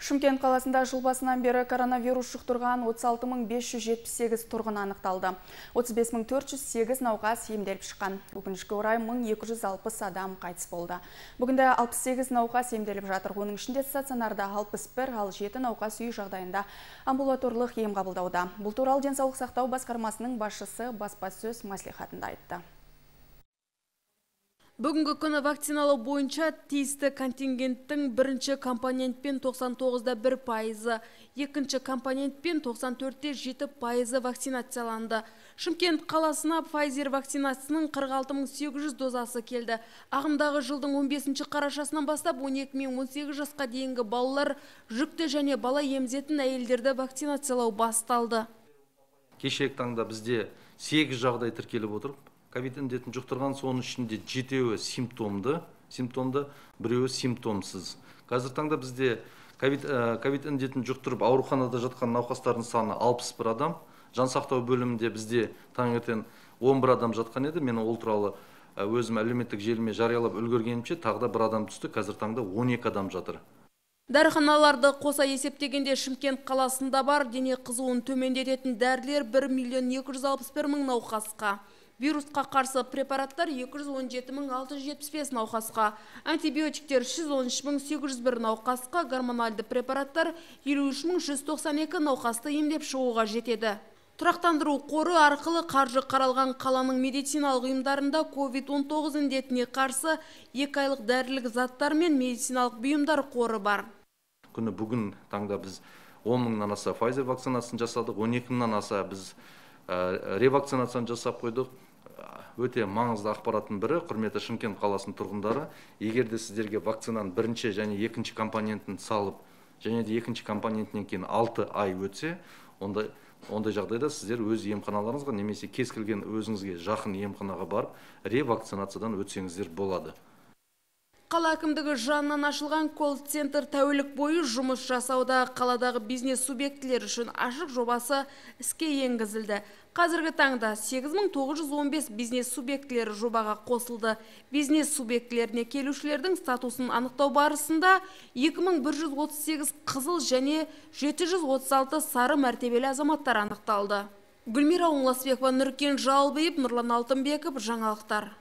Шымкент қаласында жыл басынан бері коронавирус жұқтырған 36.578 тұрғын анықталды. 35.408 науқас емделіп шыққан. Өкінішке орай 1260 адам қайтыс болды. Бүгінде 68 науқас емделіп жатыр. Оның ішінде стационарда 61, ал 7 науқас үй жағдайында амбулаторлық ем қабылдауда. Бұл туралы денсаулық сақтау басқармасының басшысы баспасөз мәслихатында айтты. Бүгінгі күні вакциналау бойынша тиісті контингенттің бірінші компонентпен 99,1%, екінші компонентпен 94,7% вакцинацияланды. Шымкент қаласына Pfizer вакцинасының 46.800 дозасы келді. Ағымдағы жылдың 15 қарашасынан бастап 12 мен 18 жасқа дейінгі балалар, жүкті және бала емізетін әйелдерді вакцинациялау басталды. Кешегі таңда бізде 8 жағдай тіркеліп отыр. Ковид індетін жұқтырған, соның ішінде 7-еуі симптомды, 1-еуі симптомсыз. Қазір таңда бізде ковид індетін жұқтырып ауруханада жатқан науқастардың саны 61 адам. Жансақтау бөлімінде бізде таңертең 11 адам жатқан еді. Мен ол туралы өзім әлеуметтік желіме жариялап үлгергенімше тағы да 1 адам түсті. Қазір таңда 12 адам жатыр. Дәріханаларды қоса есептегенде Шымкент қаласында бар дене қызуын төмендететін дәрілер 1.261.000 науқасқа. Вирусқа қарсы препараттар 217.675 науқасқа, антибиотиктер 113.801 науқасқа, гормональды препараттар 53.192 науқасты емдеп шығуға жетеді. Тұрақтандыру қоры арқылы қаржы қаралған қаланың медициналық ұйымдарында COVID-19 індетіне қарсы 2 айлық дәрілік заттар мен медициналық бұйымдар қоры бар. Күні бүгін таңда біз 10 мыңнан аса Pfizer вакцинасын жасадық, 12 мыңнан аса біз ревакцинацияны жасап қойдық. Өте маңызды ақпараттың бірі, құрметті Шымкент қаласының тұрғындары, егерде сіздерге вакцинаның бірінші және екінші компонентін салып, және де екінші компонентінен кейін 6 ай өтсе, ондай жағдайда сіздер өз емханаларыңызға немесе кез келген өзіңізге жақын емханаға барып, ревакцинациядан өтсеңіздер болады. Қала әкімдігі жанынан ашылған колл-центр тәулік бойы жұмыс жасауда. Қаладағы бизнес субъектілер үшін ашық жобасы іске енгізілді. Қазіргі таңда 8915 бизнес субъектілері жобаға қосылды. Бизнес субъектілеріне келушілердің статусын анықтау барысында 2138 қызыл және 736 сары мәртебелі азаматтар анықталды. Гүлмира Оңласбекова, Нұркен Жалбиев, Нұрлан Алтынбеков, жаңалықтар.